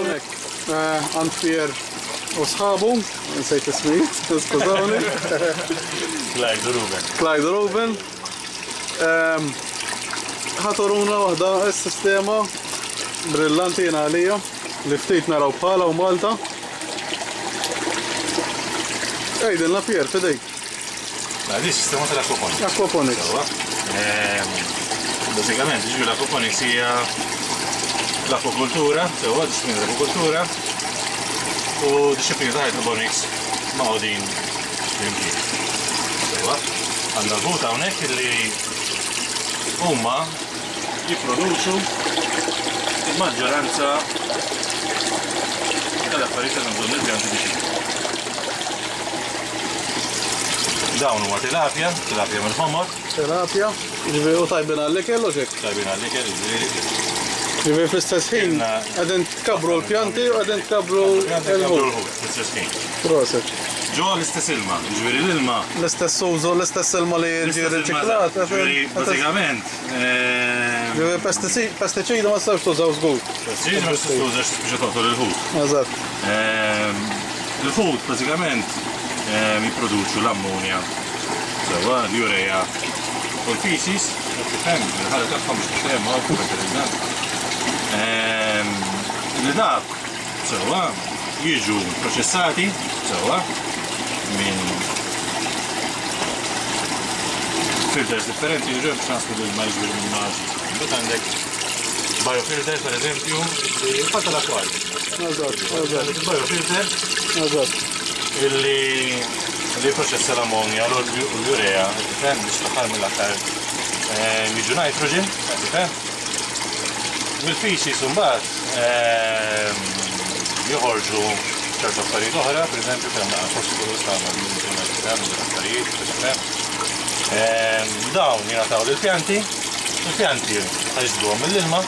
Għand Pier u sħabu, nsejt ismijiet, skużawni. Clyde u Ruben. Clyde u Ruben. Ħa turuna waħda s-sistema brillanti jiena għalija li ftit naraw bħala u Malta. Għidilna Pier, fidejk. Mela, di sistema tal-aquaponics. Aquaponics. Sewwa. Bażikament, ġifieri l-aquaponics hija l-akwakultura, sewwa, disciplina tal-akwakultura u disciplina ta' hydroponics maqgħudin flimkien. Sewwa. Għandna l-ħut hawnhekk illi huma jipproduċu il-maġġoranza tal-affarijiet li għandhom bżonn il-pjanti biex jikbru. Dawn huma tilapja, tilapja mill-ħomor. Tilapja, jiġifieri u tajbin għall-ikel u x'hekk? Tajbin għall-ikel, jiġifieri. Jiġifieri fl-istess ħin qegħdin tkabbru l-pjanti u qegħdin tkabbru l-ħut. Fl-istess ħin. Proset. Ġo l-istess ilma, jiġifieri l-ilma. L-istess użu, l-istess ilma li jiġi riċiklat. Jiġifieri bażikament. Jiġifieri pestiċidi ma tistax tużaw żgur. Pestiċidi ma tistax tuża għax tispiċċa toqtol il-ħut. Eżatt. Il-ħut bażikament jipproduċu l-ammonja, sewwa, l-urea u l-feces, qed tifhem, il-ħala tagħhom biex tifhem hawn fertilizzant. Li dak sewwa jiġu proċessati sewwa minn filters differenti, jiġu biex naslu l-ilma jiġri minn maġi. Imbagħad għandek biofilter per eżempju, il-fatt tal-akwarju. Eżatt, eżatt. Il-biofilter Eżatt. illi li jipproċessa l-ammonja u l-urea, tifhem, biex fl-aħħar mill-aħħar jiġu nitrogen, tifhem. Mill-feces imbagħad joħorġu ċertu affarijiet oħra, pereżempju kemm naqa' phosphorus, tagħmel minn affarijiet, tifhem. Dawn jingħataw lill-pjanti, il-pjanti ħa jiġbduhom mill-ilma,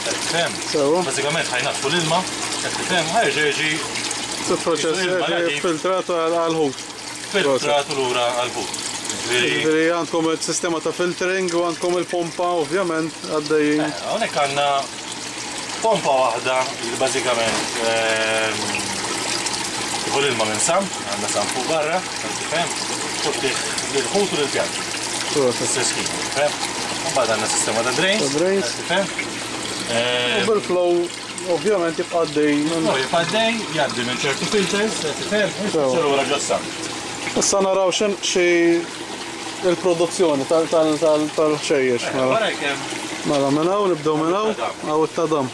qed tifhem. Sewwa. Bażikament ħa jnaddfu l-ilma, qed tifhem, ħa jerġa' jiġi Il-proċess ilma jerġa' nadif. filtrat għall-ħut. Filtrat lura għall-ħut. Ġifieri Ġifieri għandkom il-sistema ta' filtering u għandkom il-pompa ovvjament għaddejjin. Hawnhekk għandna pompa waħda li bażikament tieħu l-ilma minn sump, għandna sump fuq barra, qed tifhem, u ttih lill-ħut u lill-pjanti. Fl-istess ħin, tifhem? U mbagħad għandna sistema ta' drains, Ta' drains. qed tifhem? U bil-flow ovvjament jibqa' għaddej. Il-flow jibqa' għaddej, jgħaddi minn ċertu filters, qed tifhem, u jispiċċa lura ġo s-sump. Issa naraw xi il-produzzjoni tal-ħxejjex. Mela. Wara jekk hemm. Mela minn hawn nibdew minn hawn, hawn it-tadam.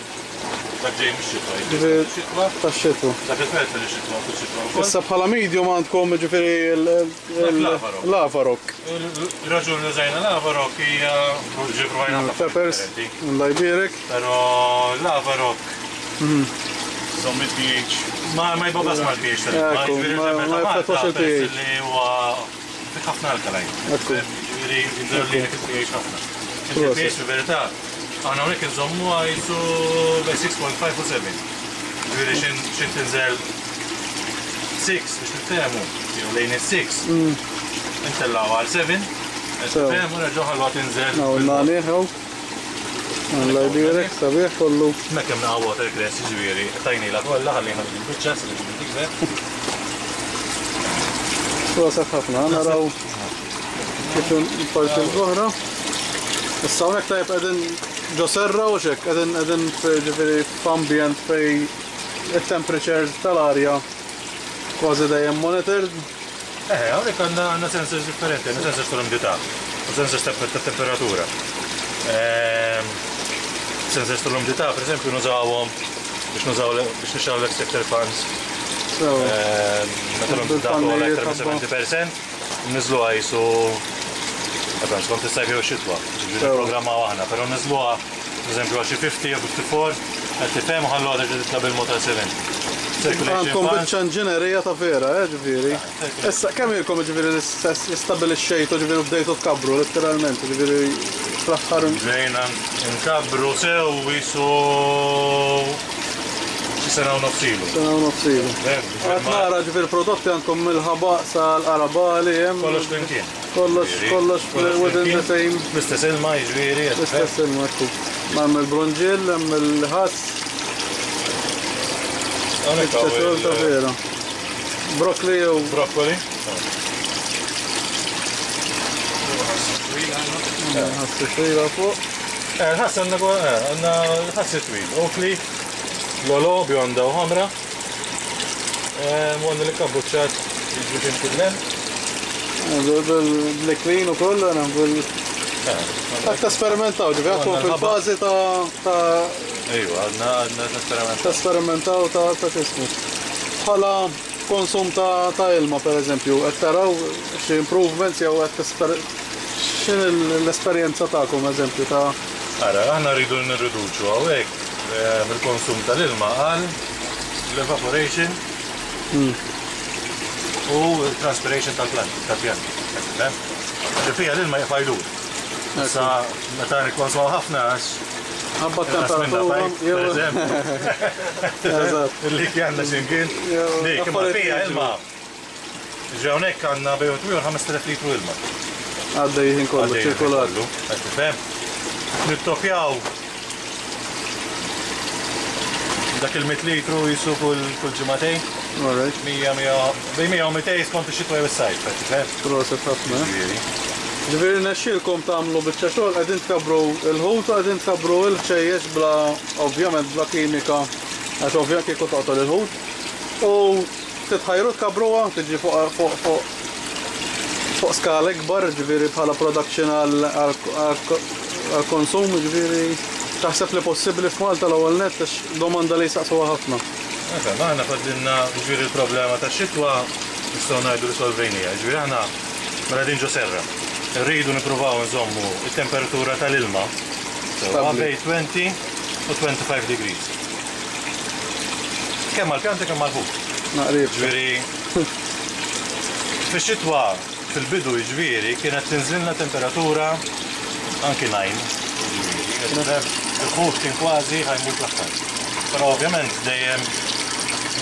Dak ġej mix-xitwa, Ġifieri xitwa. Tax-xitwa. Dak il-felfel ix-xitwa, kull xitwa wkoll. Issa bħala medium għandkom ġifieri l-lavarok. L-lavarok. Ir-raġuni li użajna l-lavarok hija ġi provajna ħafna Peppers, differenti. Allah jbierek. Però l-lavarok Żomm il-pH. Ma ma jbobas mal-pH tal-ilma, Ekku, jiġifieri ma meta jaffettwax Malta, il-pH. peress li huwa fih ħafna alkaline. Ekku. Jiġifieri jżomm il-pH ħafna. Il-pH fil-verità aħna hawnhekk inżommuha jisu bejn 6.5 u 7. Jiġifieri x'in tinżel 6 biex niftehmu, jew lejn is-6. Intellgħu għal 7, tifhem u nerġgħu ħalluha tinżel. Hawn nagħnih hawn. Alla jbierek, sabiħ kollu. Hemmhekk hemm naqa' watercress, jiġifieri tajnilha kollha ħallejna dik il-biċċa se tiġi tikber. Proset ħafna, naraw kif il-parti l-oħra. Issa hawnhekk tajjeb qegħdin ġo serra u x'hekk, qegħdin qegħdin ġifieri f'ambjent fej it-temperature tal-arja kważi dejjem monitored. Eh, hawnhekk għandna għandna sensors differenti, għandna sensors tal-umdità u sensors tat-temperatura. Ehm, sensors tal-umdità, pereżempju, nużawhom biex nużaw biex nixgħelu l-extractor fans. Ehm, meta l-umdità togħla aktar minn 70%, niżluha jisu Ehm, skont is-sajf jew xitwa, ġifieri nipprogrammaw aħna, però niżluha pereżempju għal xi 50 jew 54, qed tifhem u ħalluha terġa' titla' bil-mod għal 70. Circulation Għandkom fans. biċċa inġinerija ta' vera, ġifieri. Issa kemm ilkom ġifieri li stabbilixxejtu ġifieri u bdejtu tkabbru letteralment, ġifieri fl-aħħar. Bdejna nkabbru sew jisu xi Sena u nofs ilu. Sena u nofs ilu. Qed nara ġifieri prodotti għandkom mill-ħabaq sal-qarabali hemm. Kollox flimkien. Kollox, kollox within the same. L-istess ilma jiġifieri. L-istess ilma, ekku. Hemm il-brunġill, hemm il-ħass. Hawnhekk hawn Biċċa xogħol ta' vera. Broccoli jew. Broccoli. Ħass twila fuq. Ħass għandna għandna ħass twil. Oakley, lolo, bjonda u ħamra. U għandna l-kabbuċċat jiġu ximkien Bil-klin u koll, għana bil. Għad tesperimentaw, ġifieri għadkom fil-fażi ta' Ejwa, għadna għadna nesperimentaw. Tesperimentaw ta' x'ismu. Bħala konsum ta' ilma per eżempju, qed taraw xi improvements jew qed tesper x'in l-esperjenza tagħkom eżempju ta' Ara, aħna rridu nirriduċu hawnhekk il-konsum tal-ilma għal l-evaporation u transpiration tal-plant, tal-pjanti. Ġifieri l-ilma jibqa' jdur. Issa meta nikkonsmaw ħafna għax Ħabba temperatura. Per eżempju. Li għandna x'imkien. Dik, imma fija ilma. Ġi hawnhekk għandna bejn u 5000 litru ilma. Għaddej ħin kollu, ċirkolat. Tifhem? Nittopjaw dak il-100 litru jisu kull ġimagħtejn. Alright. 100, 100, bejn 100 u 200 skont ix-xitwa jew is-sajf, tifhem? Proset ħafna. Ġifieri nexxielkom tagħmlu biċċa xogħol qegħdin tkabbru l-ħut u qegħdin tkabbru l-ħxejjex bla ovvjament bla kimika għax ovvja kieku toqtol il-ħut. U titħajru tkabbruha tiġi fuq fuq fuq fuq skala ikbar, ġifieri bħala production għal konsum, ġifieri taħseb li possibbli f'Malta l-ewwel nett għax domanda li jsaqsuha ħafna. Efe, aħna fadlilna ġifieri l-problema ta' xitwa nistgħu ngħidu li solvejnija. Ġifieri aħna mela din ġo serra. Rridu nippruvaw nżommu it-temperatura tal-ilma sewwa Stabbli. bejn 20 u 25 degrees. Kemm għall-pjanti kemm għall-ħut. Naqrib. Ġifieri fix-xitwa fil-bidu ġifieri kienet tinżilna temperatura anki 9. Ġifieri, il-ħut kien kważi ħa jmut l-aħħar. Però ovvjament dejjem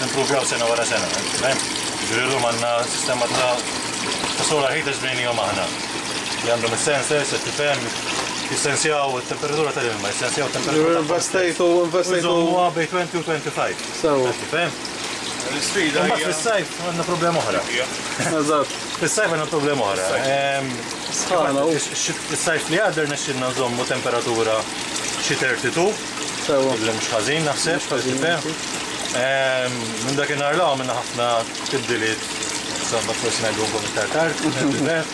nimpruvjaw sena wara sena. Fhem? Ġifieri llum għandna sistema ta' solar heaters bnejnihom aħna. Li għandhom is-sensors, qed tifhem, jissensjaw it-temperatura tal-ilma, jissensjaw it-temperatura. Investejtu, investejtu. Iżommuha bejn 20 u 25. Sewa. Qed tifhem? L-isfida Imbagħad hija. fis-sajf għandna problema oħra. Eżatt. Fis-sajf għandna problema oħra. Sħana, u. Is-sajf li għadda rnexxilna nżommu temperatura xi 32, Sewa. li mhux ħażin naħseb. Mhux ħażin, tifhem? Minn dakinhar 'l hawn għamilna ħafna tibdiliet, insomma forsi ngħidulkom iktar tard, tifhem?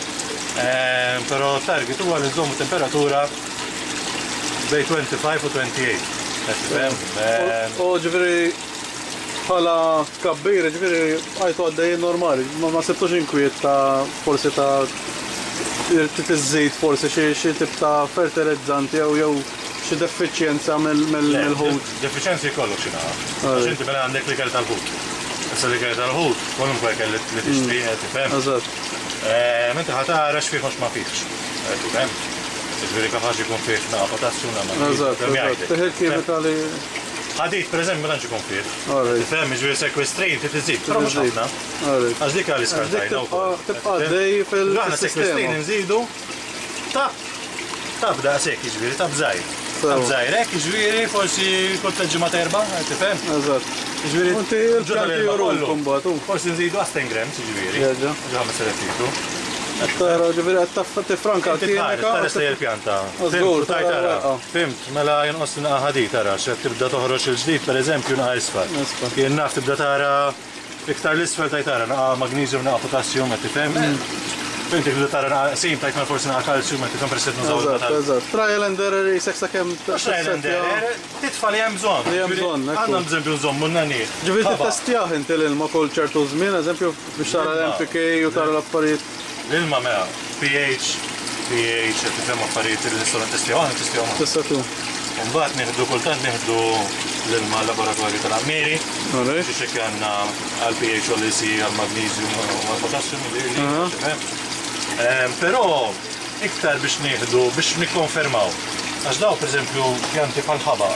Però target huwa li nżommu temperatura bejn 25 u 28. Tifhem? U ġifieri bħala tkabbir, ġifieri għajtu għaddejjin normali, ma sibtux inkwiet ta' forsi ta' tiżżid forsi xi tip ta' fertilizzanti jew xi defiċjenza mill-ħut. Defiċjenzi jkollok xi naqa. Għax inti mela għandek l-ikel tal-ħut. Issa l-ikel tal-ħut, kwalunkwe ikel li tixtri, tifhem. Eżatt. Inti ħa tara x'fih mhux ma fihx. Tifhem? Ġifieri kapaċi jkun fih naqa potassju, naqa Eżatt, eżatt. Tih il-kimika li. Ħadid, per eżempju, ma tantx ikun fih. Tifhem, ġifieri sequestrain trid iżid, però mhux ħafna. Għax dik għal iskartajna wkoll. Tibqa' għaddej fil-sistema. Aħna sequestrain nżidu tap tap daqshekk, jiġifieri tap żgħir. Tap żgħir hekk, jiġifieri forsi kull tliet ġimgħat erba', tifhem? Eżatt. Jiġifieri Inti l-pjanti juruk imbagħad. Forsi nżidu għas 10 grams, jiġifieri. Jerġa'. Ġo 5000 litru. Tara ġifieri qed tifranka l-kimika. Tara se l-pjanta. Żgur, tara. Fimt, mela jonqos naqa ħadid tara, x'qed tibda toħroġ il-ġdid pereżempju naqa isfar. Jien naf tibda tara iktar l-isfel tajt tara naqa magnesium, naqa potassium, qed tifhem? Inti tibda tara naqa qsim tajt mela forsi naqa kalċium, qed tifhem peress qed nużaw Eżatt, eżatt. Trial and error jisek sakemm Trial and error, titfa' li hemm bżonn. Li hemm bżonn, ekku. Għandna bżonn nżommu n-nanijiet. Ġifieri tittestjah inti l-ilma kull ċertu żmien, eżempju biex tara l-NPK u tara l-affarijiet. L-ilma mela, pH, pH, qed tifhem affarijiet li nistgħu nittestjaw aħna nittestjaw aħna. Tista' tu. Mbagħad nieħdu kultant nieħdu l-ilma laboratorju tal-Ammiri. Biex hekk għandna għal pH u għall-IC, għall-magnesium u għall-potassium Però iktar biex nieħdu biex nikkonfermaw. Għax daw pereżempju pjanti bħal ħaba,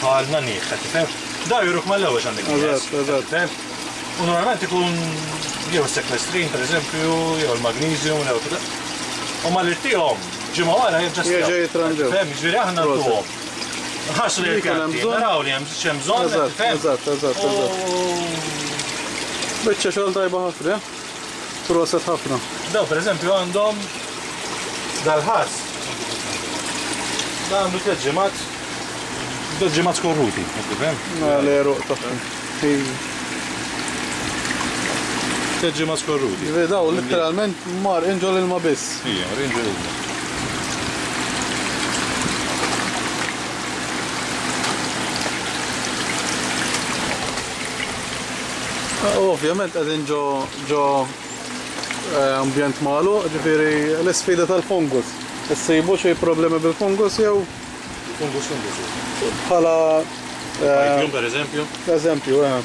bħal naniħ, qed tifhem? Daw juruk mal-ewwel x'għandek nieqes. Eżatt, eżatt. Fhem? U normalment ikun jew is-sekwestrin pereżempju, jew il-magnesium, jew U malli ttihom ġimgħa wara jerġa' Jerġa' jitranġaw. Fhem, jiġifieri aħna Proset. ntuhom. Nħarsu lejn Li jkun hemm il-pjanti, bżonn. naraw li hemm x'hemm bżonn, Eżatt, fhem? eżatt, eżatt, eżatt. U Biċċa xogħol tajba ħafna, eh? Proset ħafna. Daw pereżempju għandhom dal-ħass. Da għandu 3 ġimgħat 3 ġimgħat skorruti, qed tifhem? L-għeruq tagħhom. 3 ġimgħat skorruti. Ġifieri daw letteralment mar inġol ilma biss. Ija, rinġu ilma. U ovvjament qegħdin ġo ġo ambjent magħluq, ġifieri l-isfida tal-fungus. Issibu xi problemi bil-fungus jew Fungus fungus. bħala Pythium per eżempju. eżempju, eh.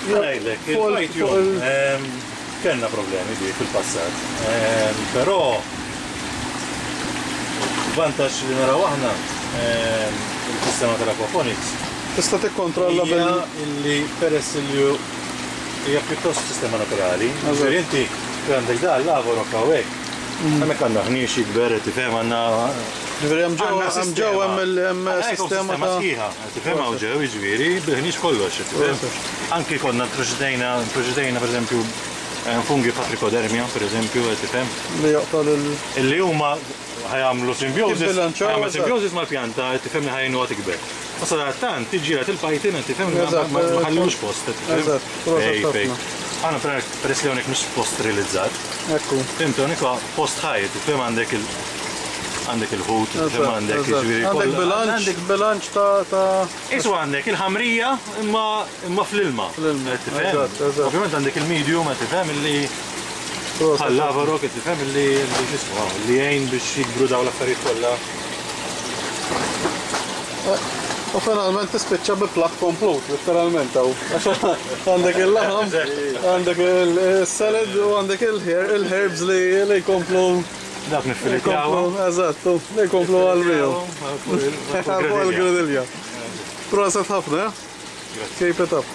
Ngħidlek, Fuq il- il-Pythium fuq il- kellna problemi bi fil-passat. Però vantaġġ li naraw aħna il-sistema tal-aquaponics Tista' tikkontrolla hija bil illi peress li hija pjuttost sistema naturali. Eżatt. Ġifieri inti għandek da l-lavorok hawnhekk. Hemmhekk għandna ħniex jikber, tifhem għandna Ġifieri hemm ġew Għandna hemm ġew hemm il- hemm Għandna sistema sistema ta' sħiħa, tifhem hawn ġew jiġifieri bil-ħniex kollox, tifhem. Anki konna introduċejna, introduċejna pereżempju fungi patrichodermia, pereżempju, tifhem, li joqtol il illi huma ħa jagħmlu simbiosis, Jibbilanċaw, ħa jagħmlu eżatt. simbiosis mal-pjanta, tifhem li ħa jgħinuha tikber. Ma sadattant tiġġieled il-pythium, tifhem li ma Eżatt, ma ħallux post, tifhem. Eżatt, proset Fej, fej. ħafna. Aħna peress li hawnhekk mhux post sterilizzat, Ekku. Fhimt, hawnhekk huwa post ħaj, tifhem għandek il għandek il-ħut, tifhem Eżatt, għandek eżatt. jiġifieri Għandek kollha- bilanċ, għandek bilanċ ta' ta' Isu għandek il-ħamrija imma imma fl-ilma. Fl-ilma, Qed tifhem? eżatt, eżatt. Ovvjament għandek il-medium, qed tifhem illi proset. bħal lavarok, qed tifhem illi li x'ismu, li jgħin biex jikbru dawn l-affarijiet kollha. U finalment tispiċċa bi platt komplut, letteralment hawn. Għax għandek il-laħam, għandek il-salad u għandek il-herbs li li jkomplu Dak niffilitjaw. jkomplu, eżatt, li jkomplu għal-miju. Fuq il-gridilja. Proset ħafna, eh? Keep it up.